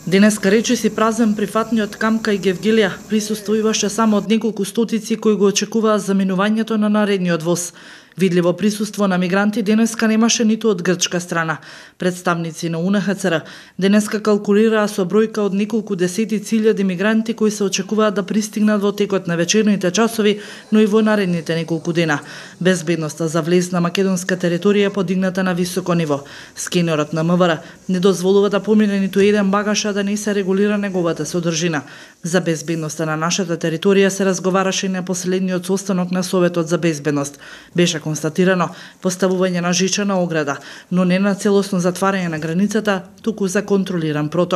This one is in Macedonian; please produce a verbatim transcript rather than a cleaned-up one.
Денеска речиси празен прифатниот камп кај Гевгелија присуствуваше само од неколку стотици кои го очекуваат заминувањето на наредниот воз. Видливо присуство на мигранти денеска немаше ниту од грчка страна. Представници на У Н Х Ц Р денеска калкулираа со бројка од неколку десетици илјади мигранти кои се очекуваат да пристигнат во текот на вечерните часови, но и во наредните неколку дена. Безбедноста за влез на македонска територија е подигната на високо ниво. Скенерот на М В Р не дозволува да помине ниту еден багаж, а да не се регулира неговата содржина. За безбедноста на нашата територија се разговараше и на последниот состанок на Советот за безбедност. Беше констатирано поставување на жичена ограда, но не на целосно затварање на границата, туку за контролиран проток.